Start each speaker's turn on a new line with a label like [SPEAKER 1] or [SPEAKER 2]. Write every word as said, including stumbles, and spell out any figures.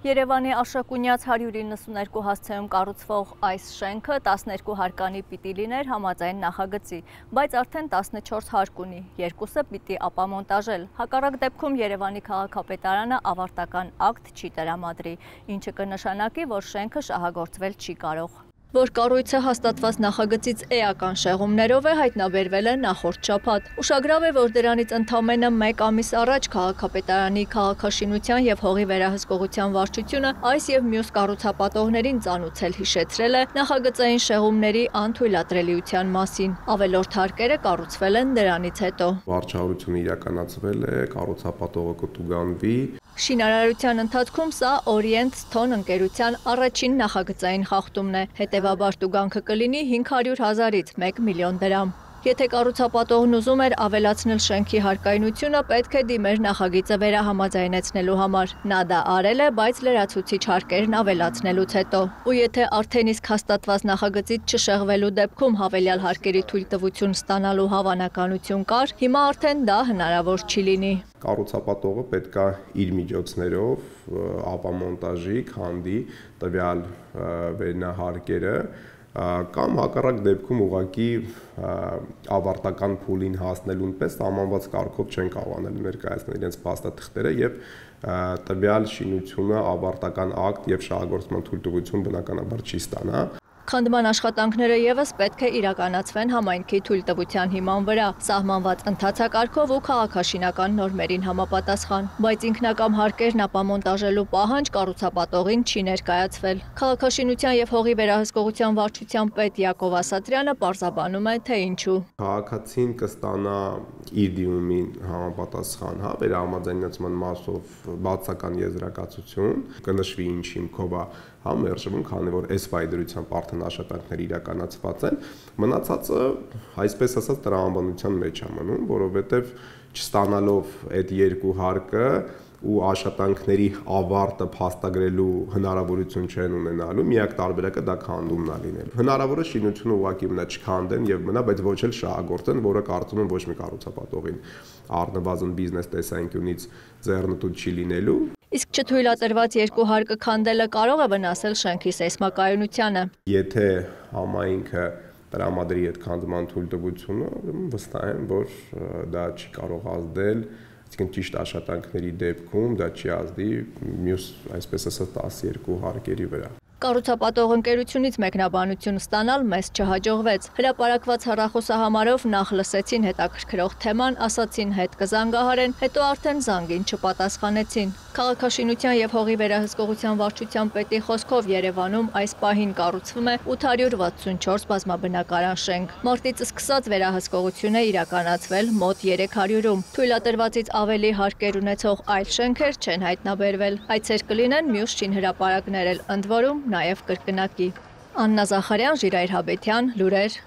[SPEAKER 1] Երևանի Աշակունյաց հարյուր իննսուններկու հասցեում կառուցվող այս շենքը տասներկու հարկանի պիտի լիներ համաձայն նախագծի, բայց արդեն տասնչորս հարկ ունի, երկուսը պիտի ապամոնտաժել։ Հակառակ դեպքում Երևանի քաղաքապետարանը ավարտական ակտ չի տրամադրի, ինչը կնշանակի, որ շենքը շահագործվել չի կարող։ Որ կառույցը հաստատված նախագծից էական շեղումներով է հայտնաբերվել է նախորդ շաբաթ։ Ուշագրավ է, որ դրանից ընդամենը մեկ ամիս առաջ քաղաքապետարանի քաղաքաշինության եւ հողի վերահսկողության վարչությունը այս եւ մյուս կառուցապատողներին ծանուցել հիշեցրել է նախագծային շեղումների անթույլատրելիության մասին։ Ավելորդ հարկերը կառուցվել են դրանից հետո։
[SPEAKER 2] Վարչահարությունը իրականացվել է, կառուցապատողը կտուգանվի։
[SPEAKER 1] Շինարարության ընթացքում սա Օրիենտ Սթոն ընկերության առաջին նախագծային խախտումն է, հետևաբար տուգանքը կլինի հինգ հարյուր հազարից մեկ միլիոն դրամ։ Եթե կառուցապատողն ուզում էր ավելացնել շենքի հարկայնությունը, պետք է դիմեր նախագիծը վերահամաձայնեցնելու համար։ Նա դա արել է, բայց լրացուցիչ հարկերն ավելացնելուց հետո։ Ու եթե արդեն իսկ հաստատված նախագծից չշեղվելու դեպքում հավելյալ հարկերի թույլտվություն ստանալու հավանականություն կար, հիմա արդեն դա հնարավոր չի լինի։
[SPEAKER 2] Կառուցապատողը պետք է իր միջոցներով ապամոնտաժի, քանդի տվյալ վերնահարկերը կամ հակառակ դեպքում ուղղակի ավարտական փուլին հասնելուն պես սահմանված կարգով չեն կարողանալ ներկայացնել իրենց փաստաթղթերը եւ տվյալ շինությունը ավարտական ակտ եւ շահագործման թույլտվություն բնականաբար չի ստանա։
[SPEAKER 1] Քանդման աշխատանքները եւս պետք է իրականացվեն համայնքի թույլտվության հիման վրա, սահմանված ընթացակարգով ու քաղաքաշինական նորմերին համապատասխան, բայց ինքնակամ հարկերն ապամոնտաժելու պահանջ կառուցապատողին չի ներկայացվել։ Քաղաքաշինության եւ հողի վերահսկողության վարչության պետ Յակով Ասատրյանը պարզաբանում է, թե ինչու։
[SPEAKER 2] Քաղաքացին կստանա իր դիմումին համապատասխան, հա, վերահամաձայնեցման մասով բացական եզրակացություն, կնշվի ինչ հիմքով է համերժվում, քանի որ այս վայրդրությամբ արդեն աշխատանքները իրականացված են, մնացածը, այսպես ասած, տրամաբանության մեջ է մնում, որովհետև չստանալով այդ երկու հարկը ու աշխատանքների ավարտը փաստագրելու հնարավորություն չեն ունենալու, միակ տարբերակը դա քանդումն է լինելու։ Հնարավոր է շինությունը ուղղակի մնա չքանդեն եւ մնա, բայց ոչ էլ շահագործեն, որը կարծում եմ ոչ մի կառուցապատողին առնվազն բիզնես տեսանկյունից ձեռնտու չի լինելու։
[SPEAKER 1] Իսկ չթույլատրված երկու հարկը քանդելը կարող է վնասել շենքի սեյսմակայունությանը։
[SPEAKER 2] Եթե համայնքը տրամադրի այդ քանդման թույլտվությունը, վստահ եմ, որ դա չի կարող ազդել, այսինքն ճիշտ աշխատանքների դեպքում դա չի ազդի մյուս, այսպես ասած, տասներկու հարկերի վրա։
[SPEAKER 1] Կառուցապատող ընկերությունից մեկնաբանություն ստանալ մեզ չհաջողվեց։ Հրապարակված հեռախոսահամարով նախ լսեցին հետաքրքրող թեման, ասացին հետ կզանգահարեն, հետո արդեն զանգին չպատասխանեցին։ Քաղաքաշինության եւ հողի վերահսկողության վարչության պետի խոսքով Երևանում այս պահին կառուցվում է ութ հարյուր վաթսունչորս բազմաբնակարան շենք։ Մարտից սկսած վերահսկողություն է իրականացվել մոտ երեք հարյուրում։ Թույլատրվածից ավելի հարկեր ունեցող այլ շենքեր չեն հայտնաբերվել։ Այցեր կլինեն մյուս շինհրապարակներ էլ, ընդ որում նաև կրկնակի։ Աննա Զախարյան, Ժիրայր Հաբետյան, լուրեր։